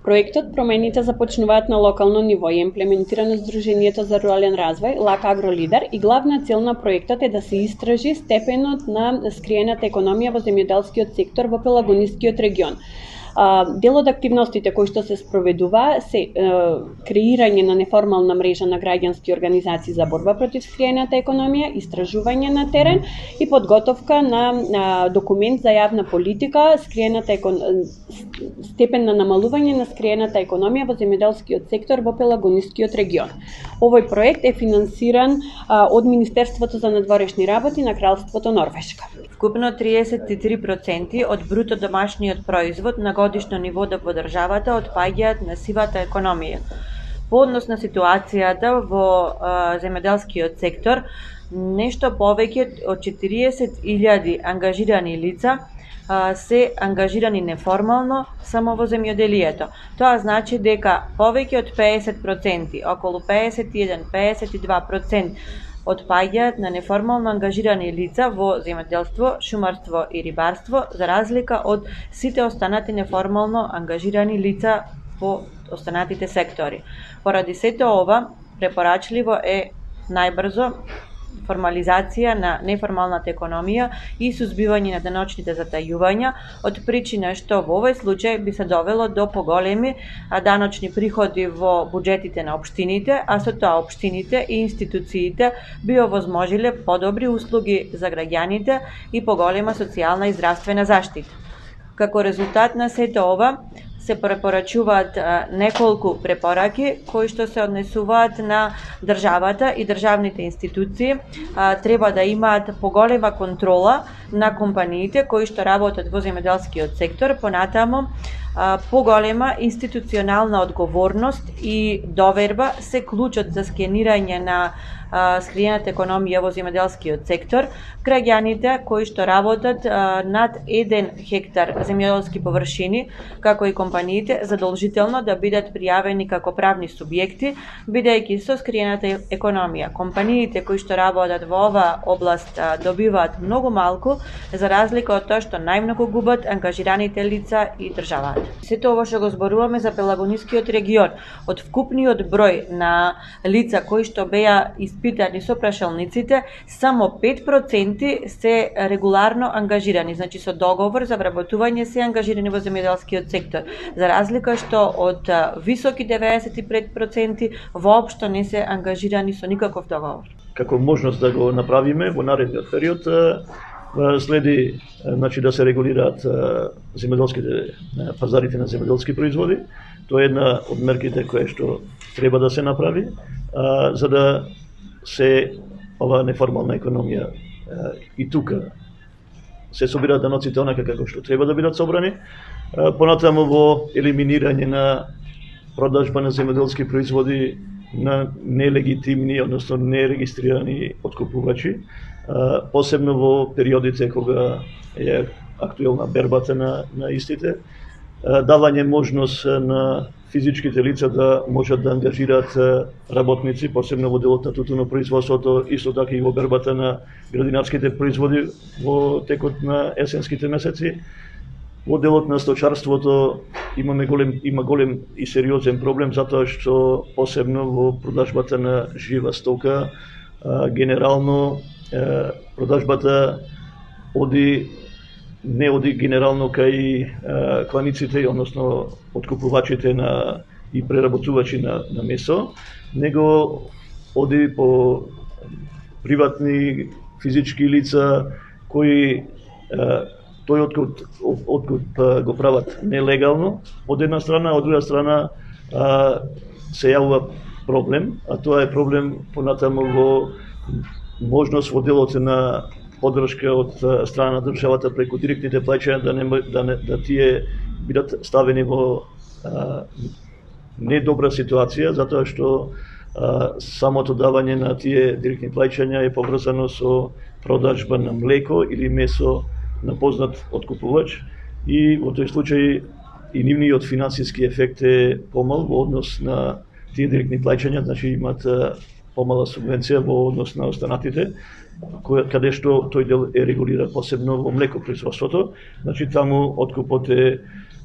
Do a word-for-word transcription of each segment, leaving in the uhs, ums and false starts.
Проектот промените започнуваат на локално ниво и имплементирано Сдруженијето за рурален развој, Лак Агро Лидер, и главна цел на проектот е да се истражи степенот на скриената економија во земјоделскиот сектор во Пелагонискиот регион. Дел од активностите кои што се спроведува се е, креирање на неформална мрежа на граѓански организации за борба против скриената економија, истражување на терен и подготовка на, на документ за јавна политика, скриената екон... степен на намалување на скриената економија во земјоделскиот сектор во Пелагонискиот регион. Овој проект е финансиран а, од Министерството за надворешни работи на Кралството Норвешка. Вкупно триесет и три проценти од бруто домашниот производ на годишно ниво во државата отпаѓаат на сивата економија. По однос на ситуацијата во а, земјоделскиот сектор, нешто повеќе од четириесет илјади ангажирани лица а, се ангажирани неформално само во земјоделието. Тоа значи дека повеќе од пеесет проценти, околу пеесет и еден до пеесет и два проценти отпаѓаат на неформално ангажирани лица во земјоделство, шумарство и рибарство, за разлика од сите останати неформално ангажирани лица во останатите сектори. Поради сето ова, препорачливо е најбрзо формализација на неформалната економија и сузбивање на даночните затајувања, од причина што во овој случај би се довело до поголеми даночни приходи во буџетите на општините, а со тоа општините и институциите би овозможиле подобри услуги за граѓаните и поголема социјална и здравствена заштита. Како резултат на сето ова, се препорачуваат неколку препораки кои што се однесуваат на државата и државните институции. Треба да имаат поголема контрола на компаниите кои што работат во земјоделскиот сектор, понатаму поголема институционална одговорност и доверба се клучот за скенирање на скриената економија во земјоделскиот сектор. Граѓаните кои што работат над еден хектар земјоделски површини, како и компаниите, задолжително да бидат пријавени како правни субјекти, бидејќи со скриената економија компаниите кои што работат во оваа област добиваат многу малку, за разлика од тоа што најмногу губат ангажираните лица и државата. Сето ова што го зборуваме за Пелагонискиот регион, од вкупниот број на лица кои што беа испитани со прашалниците, само пет проценти се регуларно ангажирани, значи со договор за вработување се ангажирани во земјоделскиот сектор, за разлика што од високи деветдесет и пет проценти воопшто не се ангажирани со никаков договор. Како можност да го направиме во наредниот период следи, значи, да се регулираат земјоделските пазарите на земјоделски производи. Тоа е една од мерките кои што треба да се направи, а, за да се ова неформална економија а, и тука се собираат даноците онака како што треба да бидат собрани, а, понатаму во елиминирање на продажба на земјоделски производи на нелегитимни, односно нерегистрирани откупувачи, посебно во периодите кога е актуелна бербата на, на истите, давање можност на физичките лица да можат да ангажираат работници, посебно во делот на тутунопроизводството, исто така и во бербата на градинарските производи во текот на есенските месеци. Во делот на сточарството имаме голем, има голем и сериозен проблем, затоа што посебно во продажбата на жива стока, генерално продажбата оди не оди генерално кај кланиците, односно откупувачите на и преработувачи на, на месо, него оди по приватни физички лица кои тој откуп, откуп го прават нелегално, од една страна, од друга страна се јавува проблем, а тоа е проблем понатаму во можност во делот на поддршка од страна на државата преку директните плаќања да не да, не, да тие бидат ставени во а, недобра ситуација, затоа што а, самото давање на тие директни плаќања е поврзано со продажба на млеко или месо на познат откупувач, и во тој случај и нивниот финансиски ефект е помал во однос на тие директни плаќања, значи имаат помала субвенција во однос на останатите, каде што тој дел е регулиран посебно во млекопроизводството, значи таму откупот е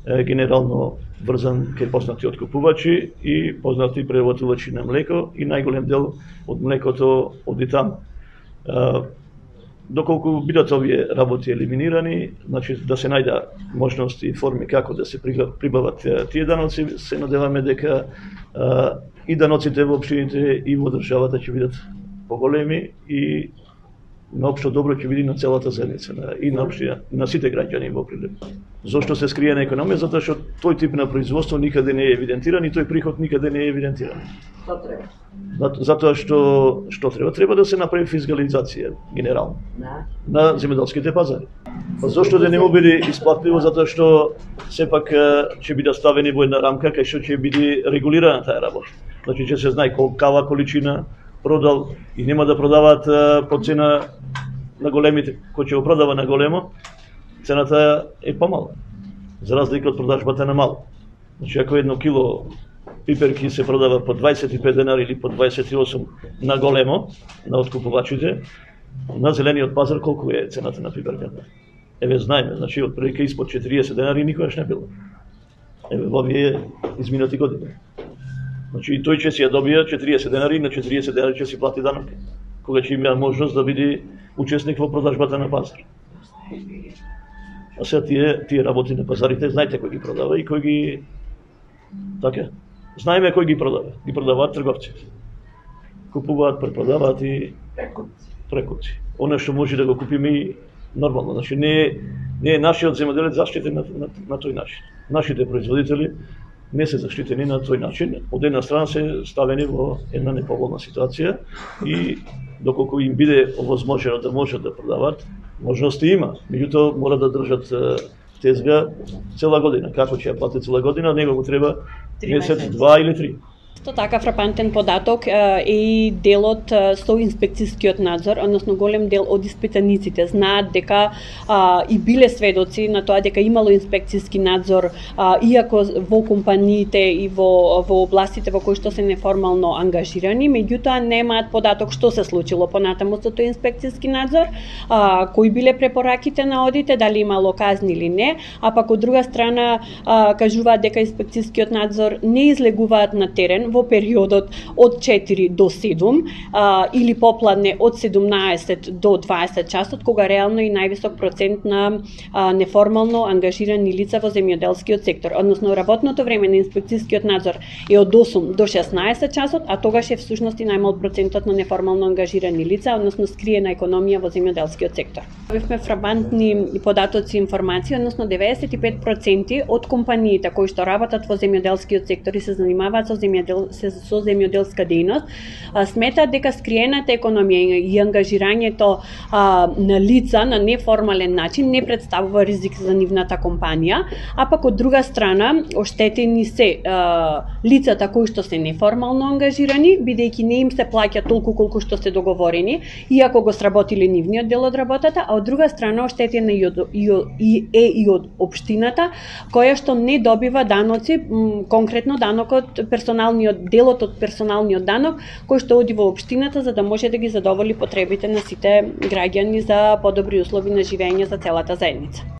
генерално врзан кај познати откупувачи и познати преработувачи на млеко и најголем дел од млекото оди таму. Доколку бидат овие работи елиминирани, значи да се најда можности и форми како да се прибават тие даноци, се надеваме дека и даноците во општините и во државата ќе бидат поголеми и на општо добро ќе биде на целата заедница и на општина, на сите граѓани во прилеп. Зошто се скриена економија? Затоа што тој тип на производство никаде не е евидентиран и тој приход никаде не е евидентиран. Што треба? Затоа што што треба? Треба да се направи фискализација генерално Да. на земјоделските пазари. Па зошто да не му биде исплатливо? Затоа што сепак ќе биде ставени во една рамка кај што ќе биде регулирана таа работа. Значи ќе се знае колкава количина продал и нема да продаваат по цена на големите. Кој ќе го продава на големо, цената е помала, за разлика од продажбата на мало. Значи, ако едно кило пиперки се продава по дваесет и пет денари или по дваесет и осум на големо, на откупувачите, на зелениот пазар колку е цената на пиперката? Еве знаеме, значи, од прилика испод четириесет денари никогаш не било. Еве, во овие изминати години. Значи, и тој ќе си ја добија четириесет денари, на четириесет денари ќе си плати данок, кога ќе има можност да биде учесник во продажбата на пазар. А сега тие, тие работи на пазарите, знаете кој ги продава и кој ги... Така? Знаеме кој ги продава. Ги продаваат трговци. Купуваат, препродаваат и прекупци. Оно што може да го купиме и нормално. Значи, не е, не е нашиот земјоделец заштитен на, на, на тој начин. Нашите производители не се заштитени на тој начин. Од една страна се ставени во една неповолна ситуација и доколку им биде овозможено да можат да продават, можности има. Меѓутоа мора да држат тезга цела година. Како ќе ја плати цела година, него му треба месец, два или три. Исто така фрапантен податок е и делот со инспекцијскиот надзор, односно голем дел од испитаниците знаат дека а, и биле сведоци на тоа дека имало инспекцијски надзор, а, иако во компаниите и во, во областите во кои што се неформално ангажирани, меѓутоа немаат податок што се случило понатаму со тој инспекцијски надзор, а, кои биле препораките на одите, дали имало казни или не, а пак од друга страна а, кажуваат дека инспекцијскиот надзор не излегуваат на терен во периодот од четири до седум а, или попладне од седумнаесет до дваесет часот, кога реално и највисок процент на а, неформално ангажирани лица во земјоделскиот сектор. Односно, работното време на инспекцијскиот надзор е од осум до шеснаесет часот, а тогаш е всушност и најмал процентот на неформално ангажирани лица, односно скриена економија во земјоделскиот сектор. Бевме фрапантни податоци и информации, односно деветдесет и пет проценти од компаниите кои што работат во земјоделскиот сектор и се занимаваат со земјодел со земјоделска дејност, сметаат дека скриената економија и ангажирањето а, на лица на неформален начин не представува ризик за нивната компанија, а пак од друга страна оштетени се а, лицата кои што се неформално ангажирани, бидејќи не им се плаќа толку колку што се договорени, иако го сработиле нивниот дел од работата, а од друга страна оштетена и, од, и, и е и од општината, која што не добива даноци, м, конкретно данокот, персоналниот делот од персоналниот данок кој што оди во општината за да може да ги задоволи потребите на сите граѓани за подобри услови на живење за целата заедница.